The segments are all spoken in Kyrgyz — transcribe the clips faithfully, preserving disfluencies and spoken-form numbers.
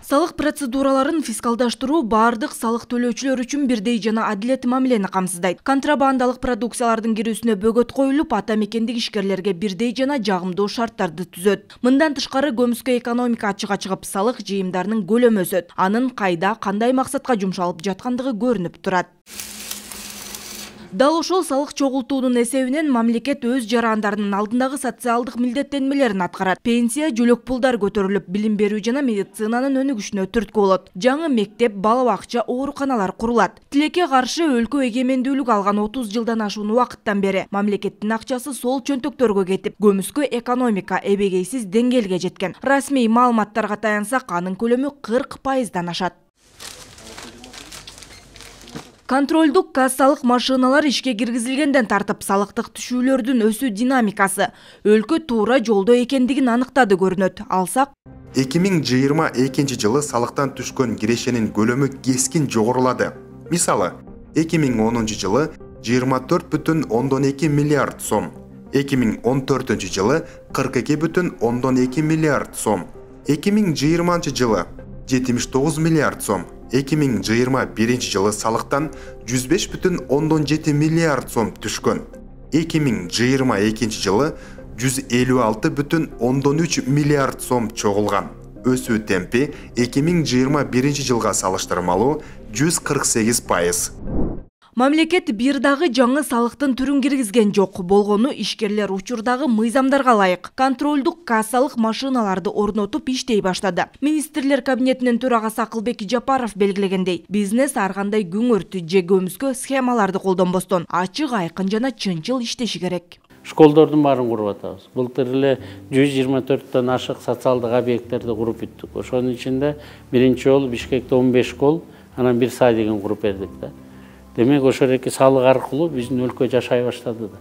Салык процедураларын фискалдаштыруу бардык салык төлөөчүлөр үчүн бирдей жана адилеттүү мамилени камсыздайт. Контрабандалык продукциялардын кирүүсүнө бөгөт коюлуп, ата мекендик ишкерлерге бирдей жана жагымдуу шарттарды түзөт. Мындан тышкары көмүскө экономика ачыга чыгып, салык жыйымдарынын көлөмү өсөт. Анын кайда, кандай максатка жумшалып жаткандыгы көрүнүп турат. Дал ошол салык чогултуунун эсебинен мамлекет өз жарандарынын алдындагы социалдык милдеттенмелерин аткарат. Пенсия, жөлөк пулдар көтөрүлүп, билим берүү жана медицинанын өнүгүшүнө түрткү болот. Жаңы мектеп, бала бакча, ооруканалар курулат. Тилекке каршы өлкө эгемендүүлүк алган отуз жылдан ашуун убакыттан бери мамлекеттин акчасы сол чөнтөктөргө кетип, көмүскө экономика эбегейсиз деңгээлге жеткен. Расмий маалыматтарга таянсак, анын көлөмү кырк пайыздан ашат. Контролдук кассалык машиналар ишке киргизилгенден тартып, салыктык түшүүлөрдүн өсүү динамикасы өлкө туура жолдо экендигин аныктады көрүнөт. Алсак, эки миң жыйырма экинчи жылы салыктан түшкөн кирешенин көлөмү кескин жогорулады. Мисалы, эки миң онунчу жылы жыйырма төрт бүтүн ондон эки миллиард сом, эки миң он төртүнчү жылы кырк эки бүтүн ондон эки миллиард сом, эки миң жыйырманчы жылы жетимиш тогуз миллиард сом, эки миң жыйырма биринчи жылы салыктан жүз беш бүтүн ондон жети миллиард сом түшкөн. эки миң жыйырма экинчи жылы жүз элүү алты бүтүн ондон үч миллиард сом чогулган. Өсүү темпи эки миң жыйырма биринчи жылга салыштырмалуу жүз кырк сегиз пайыз. Мамлекет бир дагы жаңы салыктын түрүн киргизген жок. Болгону ишкерлер учурдагы мыйзамдарга ылайык контролдук кассалык машиналарды орнотуп иштей баштады. Министрлер кабинетинин төрагасы Акылбек Жапаров белгилегендей, бизнес ар кандай күңөртү же көмүскө схемаларды колдонбостон ачык, айкын жана чынчыл иштеши керек. Школдордун баарын куруп атабыз. Былтыр эле жүз жыйырма төрттөн ашык социалдык объекттерди куруп бүттүк. Ошонун ичинде биринчи жолу Бишкекте он беш школ, анан бир садигин куруп бердик да. Демек, ошол эки салык аркылуу биздин өлкө жашай баштады да.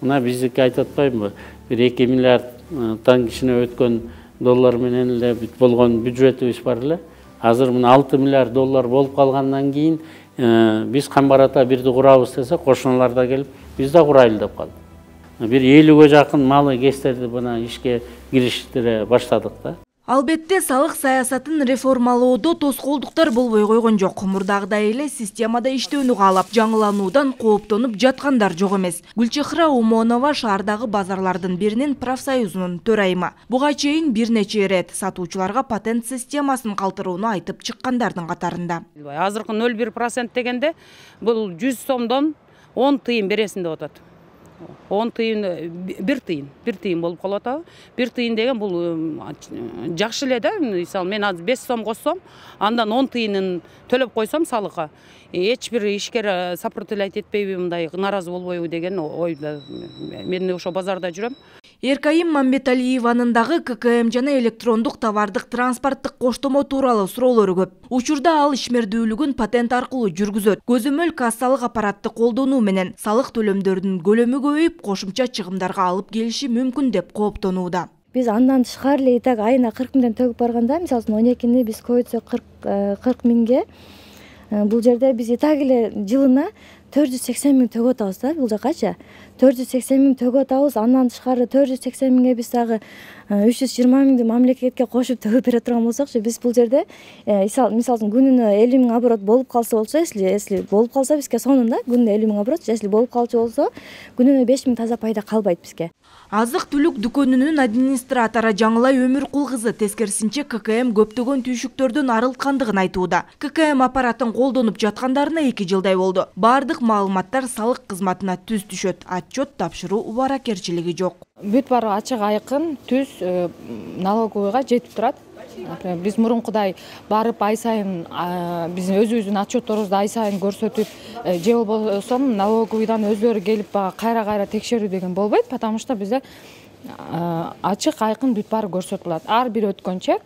Мына биздики айтып атпаймынбы? Бир эки миллиарддан кичине өткөн доллар менен эле бүт болгон бюджетибиз бар эле. Азыр мына алты миллиард доллар болуп калгандан кийин биз Камбарата бирди курабыз десе, кошуналар да келип, биз да курайлы деп калды. Бир элүүгө жакын малы кестерди мына ишке кириштире баштадык да. Албетте, салык саясатын реформалоодо тоскоолдуктар болбой койгон жок. Мурдагыдай эле системада иштөөнү каалап, жаңылануудан кооптонуп жаткандар жок эмес. Гүлчехра Умонова шаардагы базарлардын биринин профсоюзунун төрайымы. Буга чейин бир нече ирет сатуучуларга патент системасын калтырууну айтып чыккандардын катарында. Азыркы ноль бир процент дегенде бул жүз сомдон он тыйын бересин деп атат. он тыйын, бир тыйын, бир тыйын болуп калып атабы. бир тыйын деген бул жакшы эле да. Мисалы, мен азыр беш сом коссом, андан он тыйынын төлөп койсом салыкка, эч бир ишкер сопротивлять этпейби, мындай нааразы болбойбу деген ойдо. Мен ошо базарда жүрөм. Эркайым Мамбеталиеванын дагы ка ка эм жана электрондук товардык транспорттук коштомо тууралуу суроолору көп. Учурда ал ишмердүүлүгүн патент аркылуу жүргүзөт. Көзөмөл кассалык аппаратты колдонуу менен салык төлөмдөрүнүн көлөмү көбөйүп, кошумча чыгымдарга алып келиши мүмкүн деп кооптонууда. Биз андан тышкары эле так айына кырк миңден төгүп барганда, мисалы он экини биз койсок кырк миңге, бул жерде биз так эле жылына төрт жүз сексен миң төгүп атабыз да, бул жакачы. төрт жүз сексен миң төгүп атабыз, андан тышкары төрт жүз сексен миңге биз дагы үч жүз жыйырма миңди мамлекетке кошуп төгүп бере турган болсокчу, биз бул жерде мисалы күнүнө элүү миң оборот болуп калса болчу, если если болуп калса бизге сонун да, күнүнө элүү миң оборот, если болуп калчу болсо, күнүнө беш миң таза пайда калбайт бизге. Азык түлүк дүкөнүнүн администратору Жаңылай Өмүркул кызы тескерисинче ка ка эм көптөгөн түйшүктөрдөн арылткандыгын айтууда. ка ка эм аппаратын колдонуп жаткандарына эки жылдай болду. Бардык маалыматтар салык кызматына түз түшөт. Отчет тапшыруу убаракерчилиги жок. Бүт баары ачык, айкын, түз налоговыйга жетип турат. Биз мурункудай барып ай сайын биздин өзүбүздүн отчетторубузду ай сайын көрсөтүп, же болбосо налоговыйдан өзлөрү келип кайра-кайра текшерүү деген болбойт, потому что бизде ачык, айкын бүт баары көрсөтүлөт. Ар бир өткөн чек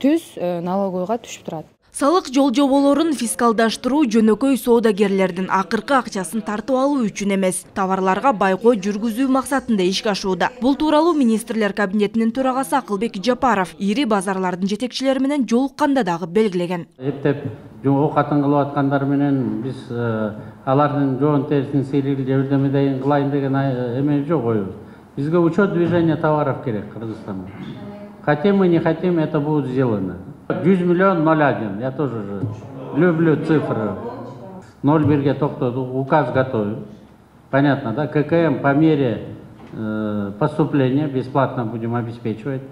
түз налоговыйга түшүп турат. Салык жол жоболорун фискалдаштыруу жөнөкөй соодагерлердин акыркы акчасын тартып алуу үчүн эмес, товарларга байкоо жүргүзүү максатында ишке ашууда. Бул тууралуу министрлер кабинетинин төрагасы Акылбек Жапаров ири базарлардын жетекчилери менен жолукканда дагы белгилеген. Эптеп оокатын кылып аткандар менен биз алардын жоон терисин сейрил же бирдемеден кылайын деген эме жок, оюбуз. Бизге учет движения товаров керек Кыргызстанда. Хотим мы, не хотим, это будет сделано. жүз миллион ноль один. Я тоже же люблю цифры. ноль бирге токтоду, указ готовим. Понятно, да? ККМ по мере э, поступления бесплатно будем обеспечивать.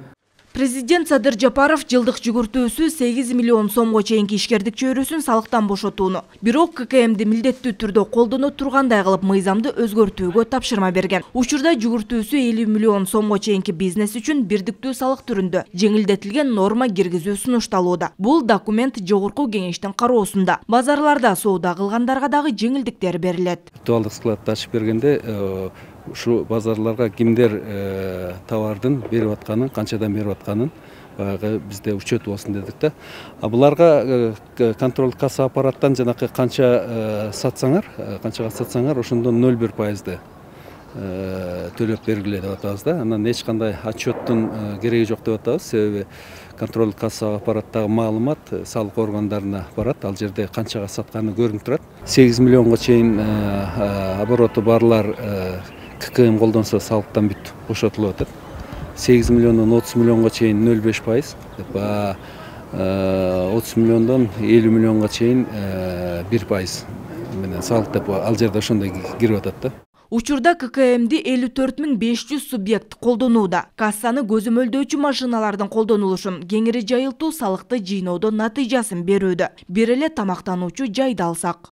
Президент Садыр Жапаров жылдык жүгүртүүсү сегиз миллион сомго чейинки ишкердик чөйрөсүн салыктан бошотууну, бирок ККМди милдеттүү түрдө колдоно тургандай кылып мыйзамды өзгөртүүгө тапшырма берген. Учурда жүгүртүүсү элүү миллион сомго чейинки бизнес үчүн бирдиктүү салык түрүндө жеңилдетилген норма киргизүү сунушталууда. Бул документ жогорку кеңештин кароосунда. Базарларда соода кылгандарга дагы жеңилдиктер берилет. Виртуалдык складты ачып бергенде ушу базарларга кимдер товардын берип атканын, канчадан берип атканын баягы бизде учет болсун дедик да. А буларга контроль касса аппараттан жанакы канча сатсаңар, канчага сатсаңар, ошондон ноль бир пайызды төлөп бергиле деп атабыз да. Анан эч кандай отчеттун кереги жок деп атабыз. Себеби контроль касса аппараттагы маалымат салык органдарына барат. Ал жерде канчага сатканы көрүнүп турат. сегиз миллионго чейин обороту барлар ККМ колдонсо салыктан бүт бошотулуп атат. сегиз миллиондон отуз миллионго чейин ноль беш пайыз, отуз миллиондон элүү миллионго чейин бир пайыз менен салык деп ал жерде ошондой кирип атат да. Учурда ККМди элүү төрт миң беш жүз субъект колдонууда. Кассаны көзөмөлдөөчү машиналардын колдонулушун кеңири жайылтуу салыкты жыйноодон натыйжасын берүүдө. Бир эле тамактануучу жайды алсак.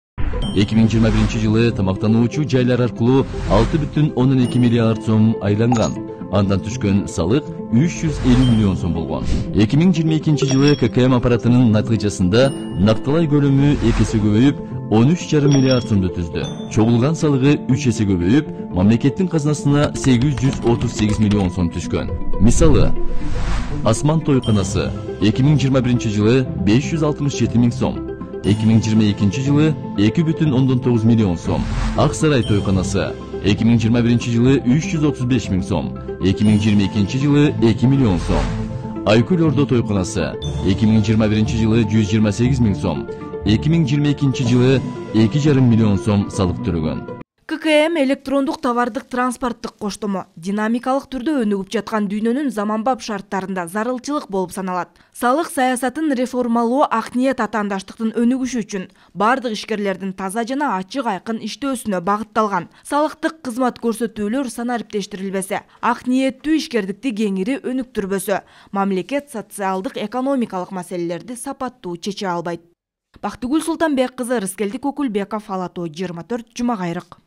эки миң жыйырма биринчи жылы тамактануучу жайлар аркылуу алты бүтүн ондон эки миллиард сом айланган. Андан түшкөн салык үч жүз элүү миллион сом болгон. эки миң жыйырма экинчи жылы ККМ аппаратынын натыйжасында накталай көлөмү эки эсе көбөйүп, он үч жарым миллиард сомду түздү. Чогулган салыгы үч эсе көбөйүп, мамлекеттин казынасына сегиз жүз отуз сегиз миллион сом түшкөн. Мисалы, Асман тойканасы эки миң жыйырма биринчи жылы беш жүз алтымыш жети миң сом, эки миң жыйырма экинчи жылы эки бүтүн ондон тогуз миллион сом. Ак Сарай тойканасы эки миң жыйырма биринчи жылы үч жүз отуз беш миң сом, эки миң жыйырма экинчи жылы эки миллион сом. Айкүл Ордо тойканасы эки миң жыйырма биринчи жылы жүз жыйырма сегиз миң сом, эки миң жыйырма экинчи жылы эки жарым миллион сом салык төлөгөн. ККМ электрондук товардык транспорттук коштомо динамикалык түрдө өнүгүп жаткан дүйнөнүн заманбап шарттарында зарылчылык болуп саналат. Салык саясатын реформалоо ак ниет атаандаштыктын өнүгүшү үчүн бардык ишкерлердин таза жана ачык айкын иштөөсүнө багытталган. Салыктык кызмат көрсөтүүлөр санариптештирилбесе, ак ниеттүү ишкердикти кеңири өнүктүрбөсө, мамлекет социалдык экономикалык маселелерди сапаттуу чече албайт. Бактыгүл Султанбек кызы, Рыскелди Көкүлбеков, Ала Тоо жыйырма төрт, Жума кайрык.